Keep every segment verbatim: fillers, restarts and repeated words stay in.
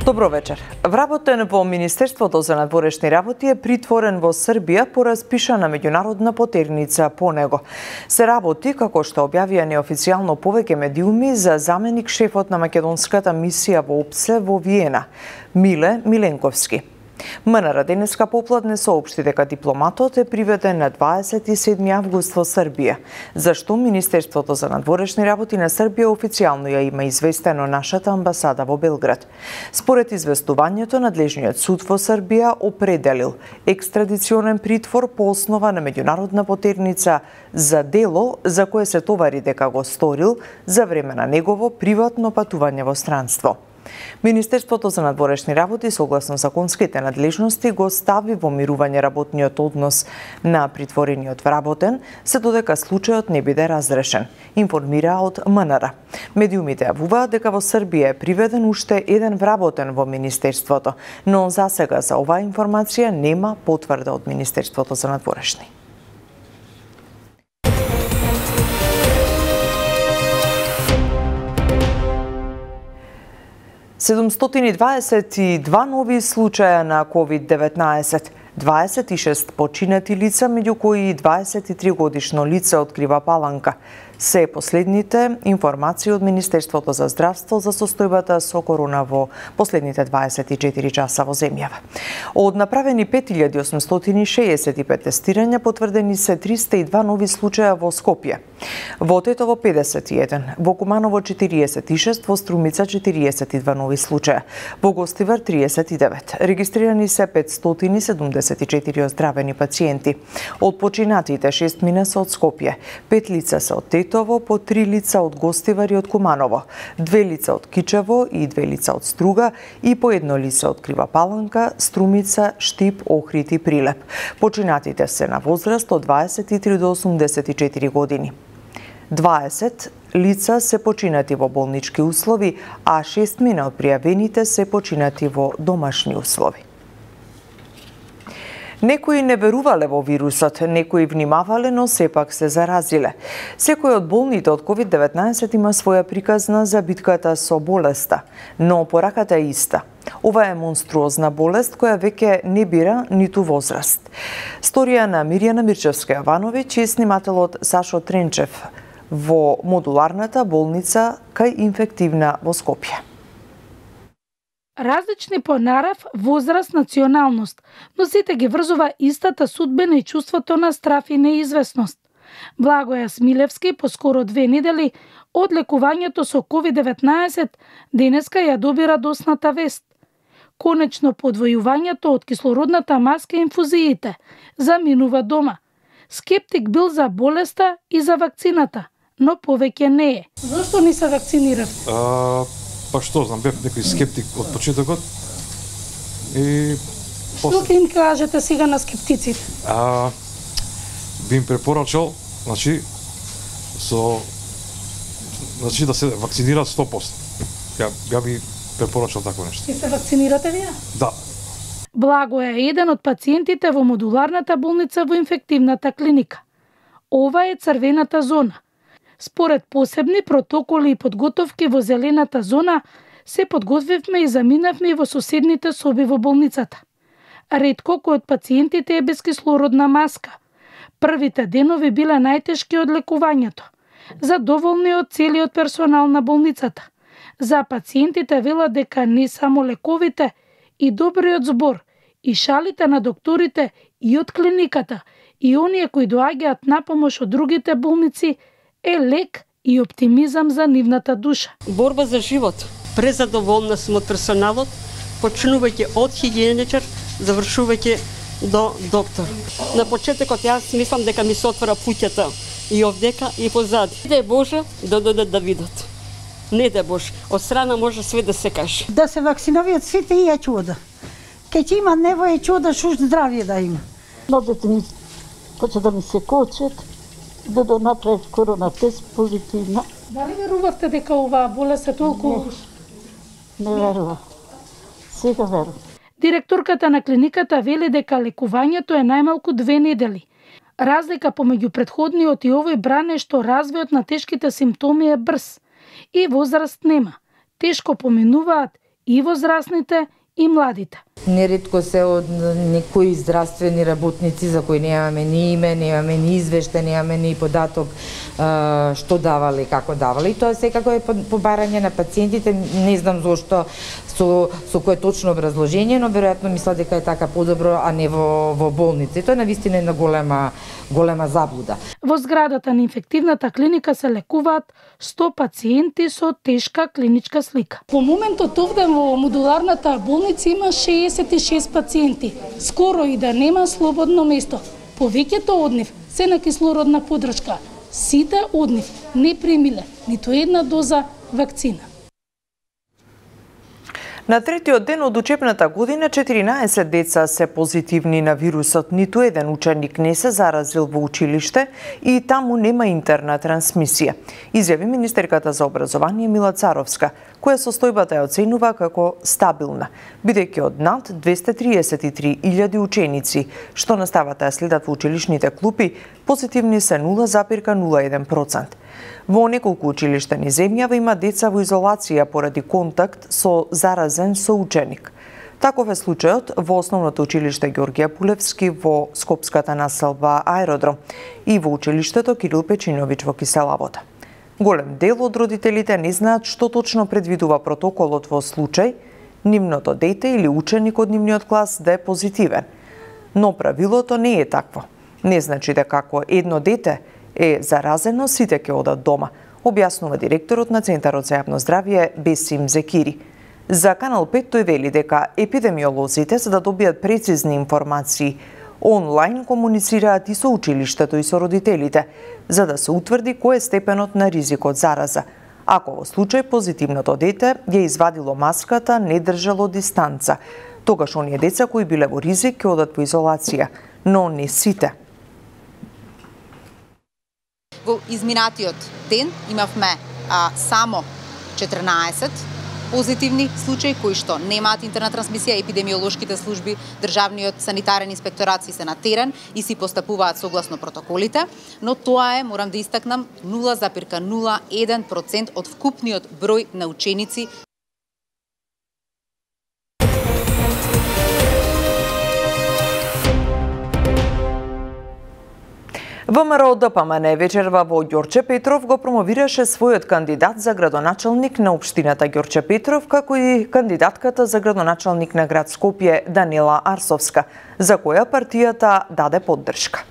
Добро вечер. Вработен во Министерството за надворешни работи е притворен во Србија по распишана меѓународна потерница по него. Се работи, како што објавија неофицијално повеќе медиуми, за заменик шефот на македонската мисија во ОПСЕ во Виена, Миле Миленковски. МНР денеска попладне соопшти дека дипломатот е приведен на дваесет и седми август во Србија, зашто Министерството за надворешни работи на Србија официјално ја има известено нашата амбасада во Белград. Според известувањето, надлежниот суд во Србија определил екстрадиционен притвор по основа на меѓународна потерница за дело за кое се товари дека го сторил за време на негово приватно патување во странство. Министерството за надворешни работи, согласно законските надлежности, го стави во мирување работниот однос на притворениот вработен, се додека случајот не биде разрешен, информира од МНР. Медиумите јавуваат дека во Србија е приведен уште еден вработен во Министерството, но засега за оваа информација нема потврда од Министерството за надворешни. седумстотини и дваесет и два нови случаја на ковид деветнаесет, дваесет и шест починати лица, меѓу кои и дваесет и три годишно лице од Крива Паланка. Се последните информации од Министерството за здравство за состојбата со корона во последните дваесет и четири часа во земјава. Од направени пет илјади осумстотини шеесет и пет тестирања, потврдени се триста и два нови случаја во Скопје. Во Тетово педесет и еден, во Куманово четириесет и шест, во Струмица четириесет и два нови случаја, во Гостивар триесет и девет. Регистрирани се петстотини седумдесет и четири оздравени пациенти. Од починатите шест мина се од Скопје, пет лица се од Тетово, по три лица од Гостивар и од Куманово, две лица од Кичево и две лица од Струга и по едно лице од Крива Паланка, Струмица, Штип, Охрид и Прилеп. Починатите се на возраст од дваесет и три до осумдесет и четири години. дваесет лица се починати во болнички услови, а шест мина од пријавените се починати во домашни услови. Некои не верувале во вирусот, некои внимавале, но сепак се заразиле. Секој од болните од ковид деветнаесет има своја приказна за битката со болеста, но пораката е иста. Ова е монструозна болест која веќе не бира ниту возраст. Сторија на Мирјана Мирчевска-Јовановиќ и снимателот Сашо Тренчев во модуларната болница кај инфективна во Скопје. Различни по нарав, возраст, националност, но сите ги врзува истата судбина и чувството на страф и неизвестност. Благоја Смилевски по скоро две недели од лекувањето со ковид деветнаесет денеска ја доби радосната вест. Конечно подвојувањето од кислородната маска и инфузиите заминува дома. Скептик бил за болеста и за вакцината, но повеќе не е. Зошто не се вакцинирав? А... Па што знам, бев некој скептик од почетокот и Што ќе им кажете сега на скептиците? А, би им препорачал, значи, со значи да се вакцинираат сто проценти. Ја, ја би препорачал такво нешто. И се вакцинирате вие? Да. Благо е еден од пациентите во модуларната болница во инфективната клиника. Ова е црвената зона. Според посебни протоколи и подготовки во зелената зона, се подготвивме и заминавме во соседните соби во болницата. Ретко кој од пациентите е без кислородна маска. Првите денови биле најтешки од лекувањето. Задоволни од целиот персонал на болницата. За пациентите велат дека не само лековите, и добриот збор, и шалите на докторите, и од клиниката, и оние кои доаѓаат на помош од другите болници, е лек и оптимизам за нивната душа. Борба за живот. Презадоволна сум од персоналот, почнувајќи од хигиеничар, завршувајќи до доктор. На почетокот јас мислам дека ми се отвора пуќата и овдека и позади. Не дај Боже да додат да видат. Не дај Боже. Од страна може све да се каже. Да се вакцинавиат сите и е чуда. Ке ќе има невоја чуда, шо здравје да има. Младите ми поче да ми се кочат, да да направат корона тест позитивна. Дали верувавте дека оваа болест е толку? Не, не верувам. Сега верувам. Директорката на клиниката вели дека лекувањето е најмалку две недели. Разлика помеѓу претходниот и овој бран е што развојот на тешките симптоми е брз и возраст нема. Тешко поминуваат и возрастните и младите. Неретко се од некои здравствени работници за кои немаме ни име, немаме ни извештај, немаме ни податок што давале, како давале. И тоа секако е побарање на пациентите, не знам зошто со со кое точно образложение, но веројатно мислат дека е така подобро, а не во во болница. И тоа е навистина една голема голема заблуда. Во зградата на инфективната клиника се лекуваат сто пациенти со тешка клиничка слика. По моментот овде во модуларната болница има шеесет и шест пациенти. Скоро и да нема слободно место. Повеќето од нив се на кислородна подршка. Сите од нив не примиле ниту една доза вакцина. На третиот ден од учебната година четиринаесет деца се позитивни на вирусот. Ниту еден ученик не се заразил во училиште и таму нема интерна трансмисија, изјави министерката за образование Мила Царовска, која состојбата ја оценува како стабилна, бидејќи од над двесте триесет и три илјади ученици што наставата ја следат во училишните клупи, позитивни се нула запирка нула еден процент. Во неколку училишта низ земјава има деца во изолација поради контакт со заразен соученик. Таков е случајот во основното училиште Ѓорѓе Пулевски во скопската населба Аеродром и во училиштето Кирил Печиновиќ во Киселавода. Голем дел од родителите не знаат што точно предвидува протоколот во случај нивното дете или ученик од нивниот клас да е позитивен. Но правилото не е такво. Не значи дека ако едно дете е заразено, сите ќе одат дома, објаснува директорот на Центарот за јавно здравје Бесим Зекири. За Канал пет тој вели дека епидемиолозите, за да добијат прецизни информации, онлайн комуницираат и со училиштето и со родителите, за да се утврди кој е степенот на ризик од зараза. Ако во случај позитивното дете ја извадило маската, не држало дистанца, тогаш оние деца кои биле во ризик ќе одат во изолација, но не сите. Во изминатиот ден имавме а, само четрнаесет позитивни случаи кои што немаат интерна трансмисија. Епидемиолошките служби, државниот санитарен инспекторат си се на терен и си постапуваат согласно протоколите, но тоа е, морам да истакнам, нула запирка нула еден процент од вкупниот број на ученици. ВМРО Д П М Н вечерва во Ѓорче Петров го промовираше својот кандидат за градоначалник на општината Ѓорче Петров, како и кандидатката за градоначалник на град Скопје Данила Арсовска, за која партијата даде поддршка.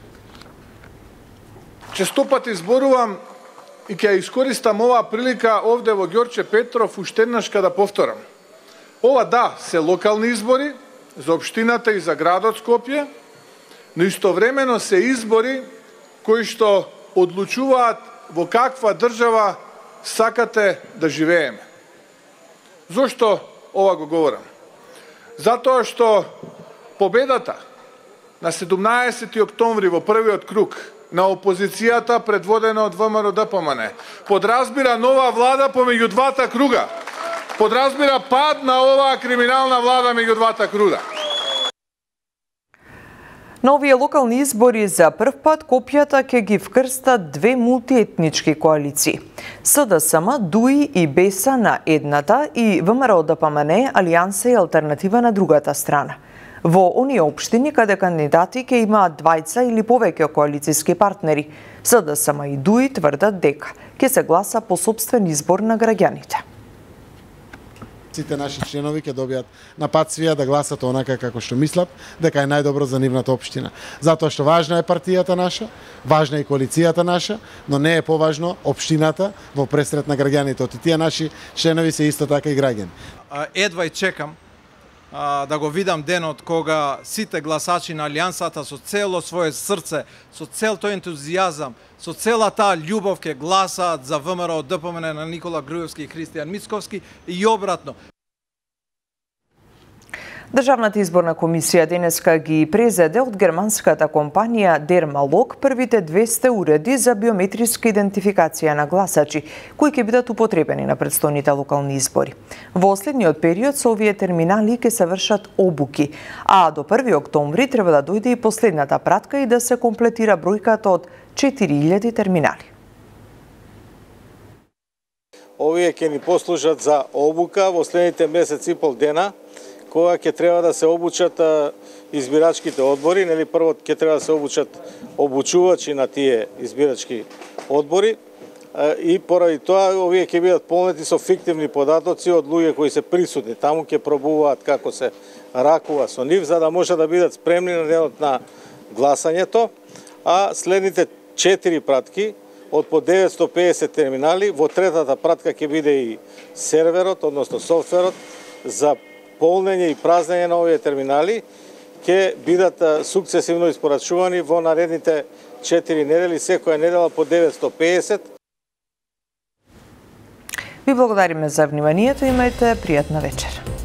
Честопати зборувам и ќе искористам оваа прилика овде во Ѓорче Петров уште еднашка да повторам. Ова да, се локални избори за општината и за градот Скопје, но истовремено се избори кои што одлучуваат во каква држава сакате да живееме. Зошто ова го говорам? Затоа што победата на седумнаесети октомври во првиот круг на опозицијата предводена од ВМРО Д П М Н подразбира нова влада помеѓу двата круга. Подразбира пад на оваа криминална влада меѓу двата круга. На овие локални избори за прв пат копјата ќе ги вкрстат две мултиетнички коалиции. С Д С М, Д У И и Б Е С на едната и ВМРО Д П М Н, Алијанса и Алтернатива на другата страна. Во оние општини каде кандидати ќе имаат двајца или повеќе коалициски партнери, С Д С М и Д У И тврдат дека ќе се гласа по сопствен избор на граѓаните. Сите наши членови ќе добијат на пат свија да гласат онака како што мислат дека е најдобро за нивната општина. Затоа што важна е партијата наша, важна е и коалицијата наша, но не е поважно општината во пресрет на граѓаните. Оти тие наши членови се исто така и граѓани. Едва и чекам а, да го видам денот кога сите гласачи на Алијансата со цело свое срце, со цел тој ентузијазам, со цела таа љубов ќе гласаат за ВМРО Д П М Н на Никола Груевски и Христијан Мицковски и обратно. Државната изборна комисија денеска ги презеде од германската компанија Дермалог првите двесте уреди за биометриска идентификација на гласачи, кои ќе бидат употребени на претстојните локални избори. Во следниот период со овие терминали ќе се вршат обуки, а до први октомври треба да дојде и последната пратка и да се комплетира бројката од четири илјади терминали. овие ќе ни послужат за обука во следните месец и пол дена, кога ќе треба да се обучат избирачките одбори, нели прво ќе треба да се обучат обучувачи на тие избирачки одбори и поради тоа овие ќе бидат полнети со фиктивни податоци од луѓе кои се присутни. Таму ќе пробуваат како се ракува со нив, за да може да бидат спремни на денот на гласањето, а следните четири пратки од по деветстотини и педесет терминали, во третата пратка ќе биде и серверот, односно софтверот за полнење и празнење на овие терминали, ќе бидат сукцесивно испорачувани во наредните четири недели, секоја недела по деветстотини и педесет. Ви благодариме за вниманието, имајте пријатна вечер.